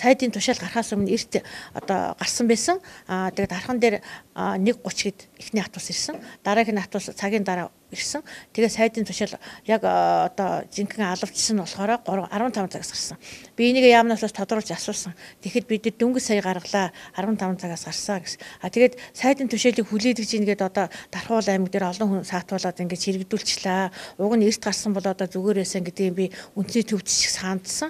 сайдын тушаал гарахаас өмнө эрт одоо гарсан байсан. Тэгээд дархан дээр 1:30 гээд эхний хатус ирсэн. Дараагийн хатус цагийн дараа ирсэн. Тэгээ сайдын тушаал яг одоо жинхэнэ алавчсан болохоор 15 цагаас гарсан. Би энийг яамнаас тодруулж асуусан. Тэгэхэд бид дөнгөж сая гаргалаа 15 цагаас гарсан гэсэн. Тэгээд сайдын тушаалыг хүлээдэг чинь гээд одоо Дархуул аймаг дээр олон хүн саатуулаад ингэж хэрэгдүүлчихлээ. Уг нь эрт гарсан бол одоо зүгээр байсан гэдгийг би үндэсний төвд шиг саандсан.